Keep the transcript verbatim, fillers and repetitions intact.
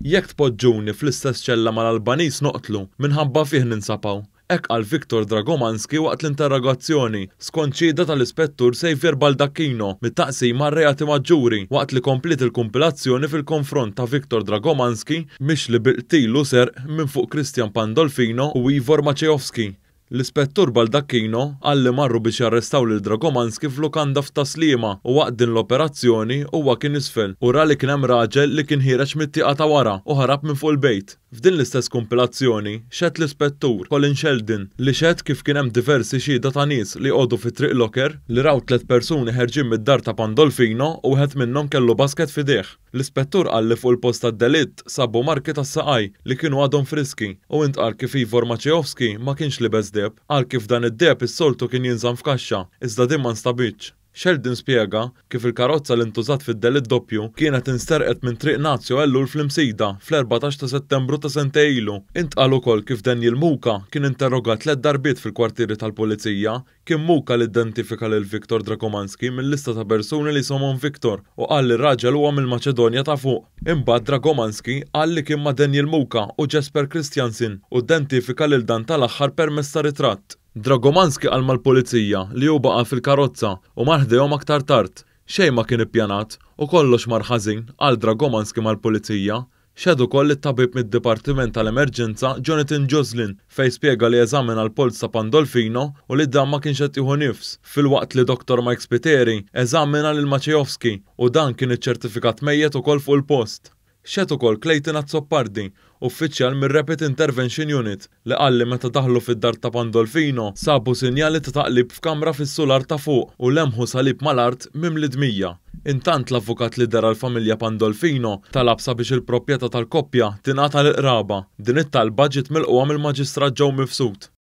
Jekk tpoġġuni fl-istess ċella mal-Albaniż noqtlu, minħabba fih ninsab hawn. Hekk qal Viktor Dragomanski waqt l-interrogazzjoni, skont xhieda tal-Ispettur Xavier Baldacchino mit-taqsima reati maġġuri, waqt li kompliet il-kumpilazzjoni fil-konfront ta' Viktor Dragomanski mixli bil-qtil u serq minn fuq Christian Pandolfino u Ivor Maciejowski. L-Ispettur Baldacchino qal li marru biex jarrestaw lil Dragomanski f'lukanda f'Tas-Sliema u waqt din l-operazzjoni huwa kien isfel u ra li kien hemm raġel li kien ħiereġ mit-tieqa ta' wara u ħarab minn fuq il-bejt. F'din l-istess kumpilazzjoni xehed l-Ispettur Colin Sheldon, li xehed kif kien hemm diversi xhieda ta' nies li joqogħdu fi Triq Locker li raw tliet persuni ħerġin mid-dar ta' Pandolfino u wieħed minnhom kellu basket f'idejh. L-ispettur qal li fuq il-post tad-delitt sabu marki tas-saqaj li kienu għadhom friski u intqal kif Ivor Maciejowski ma kienx libes deheb. Qal kif dan id-deheb is-soltu kien jinżamm f'kaxxa, iżda din ma nstabitx. Sheldon spjega kif il-karozza li ntużat fid-delitt doppju kienet insterqet minn Triq Nazio Ellul fl-Imsida fl-erbatax ta' Settembru ta' sentejn ilu. Intqal ukoll kif Daniel Muka kien interrogat tliet darbiet fil-kwartieri tal-Pulizija. Kien Muka li identifika lil Viktor Dragomanski mill-lista ta' persuni li jisimhom Viktor u qal li r-raġel huwa mill-Maċedonja ta' Fuq. Imbagħad Dragomanski qal li kien ma' Daniel Muka u Jesper Christiansen u identifika lil dan tal-aħħar permezz ta' ritratt. Dragomanski qal mal-pulizija li hu baqa' fil-karozza u mar ħdejhom aktar tard. Xejn ma kien ippjanat u kollox mar ħażin, qal Dragomanski mal-pulizija. Xehed ukoll it-tabib mid-Dipartiment tal-Emerġenza Jonathan Joslin, fejn spjega li eżamina l-polz ta' Pandolfino u li dan ma kienx qed jieħu nifs, filwaqt li Doktor Mike Spiteri eżamina lil Maciejowski u dan kien iċċertifikat mejjet ukoll fuq il-post. Xehed ukoll Clayton Azzopardi, uffiċjal mir-Rapid Intervention Unit, li qal li meta daħlu fid-dar ta' Pandolfino sabu sinjali ta' taqlib f'kamra fis-sular ta' fuq u lemħu salib mal-art mimli dmija. Intant, l-avukat li deher għall-familja Pandolfino talab sabiex il-proprjetà tal-koppja tingħata lill-qraba. Din it-talba ġiet milqugħa mill-Maġistrat Joe Mifsud.